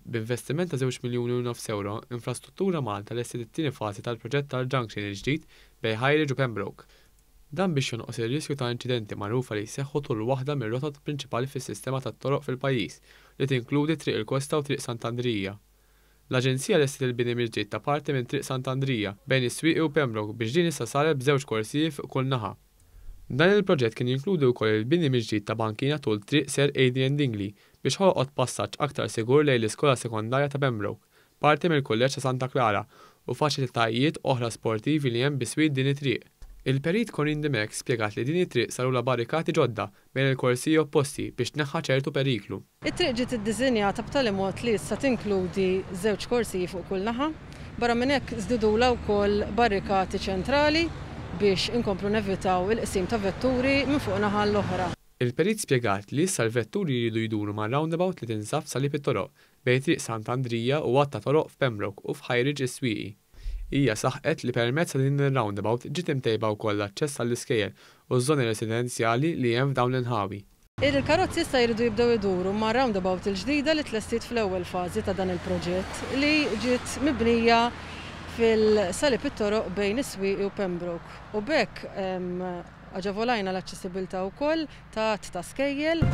B'investiment ta' żewġ miljuni u nofs ewro, Infrastruttura Malta lestiet it-tieni fażi tal-proġett tal-junction il-ġdid bejn Highridge u Pembroke. Dan biex jonqos ir-riskju ta' inċidenti magħrufa li jseħħu tul waħda mir-rotot prinċipali fis-sistema tat-toroq fil-pajjiż, li tinkludi Triq il-Kosta u Triq Sant'Andrija. L-Aġenzija lestiet il-bini mill-ġdid ta' parti minn Triq Sant'Andrija, bejn is-Swieqi u Pembroke biex din issa saret b'żewġ korsiji fuq kull naħa. Dan il-proġett kien jinkludi wkoll il-bini mill-ġdid ta' bankina tul Triq Sir Adrian Dingli biex ħolqot passaġġ aktar sigur lejn l-Iskola Sekondarja ta' Pembroke, parti mill-Kulleġġ ta' Santa Klara, u faċilitajiet oħra sportivi li hemm biswit din it-triq. Il-Perit Corinne Dimech spjegat li din it-triq sarulha barrikati ġodda bejn il-korsiji opposti biex tneħħa ċertu periklu. It-triq ġiet iddisinjata b'tali mod li issa tinkludi żewġ korsiji fuq kull naħa. Barra minn hekk żdidulha wkoll barrikati ċentrali biex inkomplu nevitaw il-qsim ta' vetturi minn fuq naħa għall-oħra. Il-perit spjegat li issa l-vetturi jridu jduru mar-roundabout li tinsab f'salib it-toroq bejn Triq Sant'Andrija u għadd ta' toroq f'Pembroke u f'Highridge is-Swieqi. Hija saħqet li permezz ta' din ir-roundabout ġiet imtejba wkoll l-aċċess għall-iskejjel u ż-żoni residenzjali li hemm f'dawn l-inħawi. Il-karozzi issa jridu jibdew iduru mar-roundabout il-ġdida li tlestiet fl-ewwel fażi ta' dan il-proġett li ġiet mibnija fil-salib it-toroq bejn is-Swieqi u Pembroke u b'hekk aġevolajna l-aċċessibilità wkoll ta' għadd ta' skejjel.